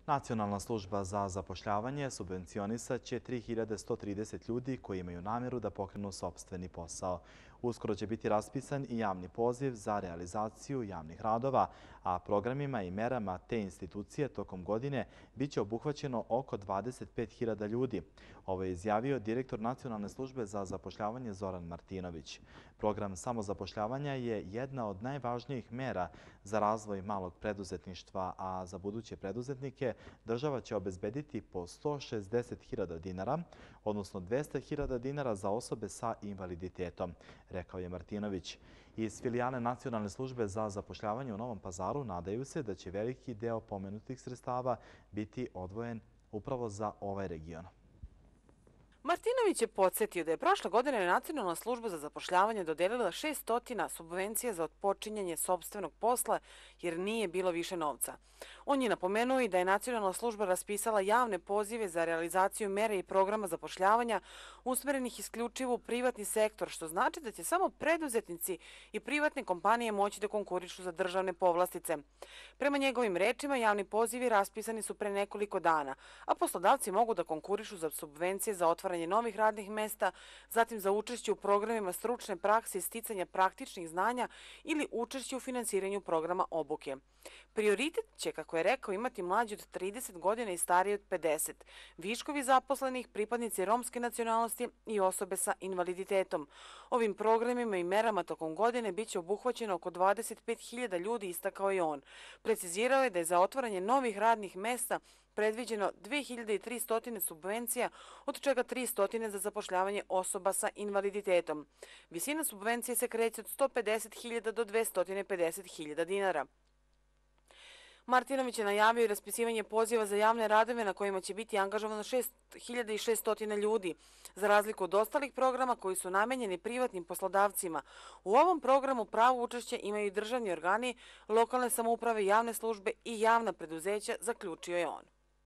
Nacionalna služba za zapošljavanje subvencionisat će 3130 ljudi koji imaju namjeru da pokrenu sopstveni posao. Uskoro će biti raspisan i javni poziv za realizaciju javnih radova, a programima i merama te institucije tokom godine bit će obuhvaćeno oko 25.000 ljudi. Ovo je izjavio direktor Nacionalne službe za zapošljavanje Zoran Martinović. Program samozapošljavanja je jedna od najvažnijih mera za razvoj malog preduzetništva, a za buduće preduzetnike država će obezbediti po 160.000 dinara, odnosno 200.000 dinara za osobe sa invaliditetom, rekao je Martinović. Iz filijale Nacionalne službe za zapošljavanje u Novom Pazaru nadaju se da će veliki deo pomenutih sredstava biti odvojen upravo za ovaj region. Martinović je podsjetio da je prošle godine Nacionalna služba za zapošljavanje dodelila 600 subvencija za otpočinjanje sopstvenog posla jer nije bilo više novca. On je napomenuo i da je Nacionalna služba raspisala javne pozive za realizaciju mere i programa zapošljavanja usmerenih isključivo u privatni sektor, što znači da će samo preduzetnici i privatne kompanije moći da konkurišu za državne povlastice. Prema njegovim rečima, javni pozivi raspisani su pre nekoliko dana, a poslodavci mogu da konkurišu za subvencije za otvaranje novih radnih mesta, zatim za učešće u programima stručne prakse i sticanja praktičnih znanja ili učešće u finansiranju programa obuke. Prioritet će, kako je rekao, imati mlađi od 30 godina i stariji od 50, viškovi zaposlenih, pripadnici romske nacionalnosti i osobe sa invaliditetom. Ovim programima i merama tokom godine bit će obuhvaćeno oko 25.000 ljudi, istakao i on. Precizirao je da je za otvaranje novih radnih mesta predviđeno 2300 subvencija, od čega 300 za zapošljavanje osoba sa invaliditetom. Visina subvencije se kreće od 150.000 do 250.000 dinara. Martinović je najavio i raspisivanje poziva za javne radove na kojima će biti angažovano 6.600 ljudi, za razliku od ostalih programa koji su namenjeni privatnim poslodavcima. U ovom programu pravo učešće imaju i državni organi, lokalne samouprave, javne službe i javna preduzeća, zaključio je on.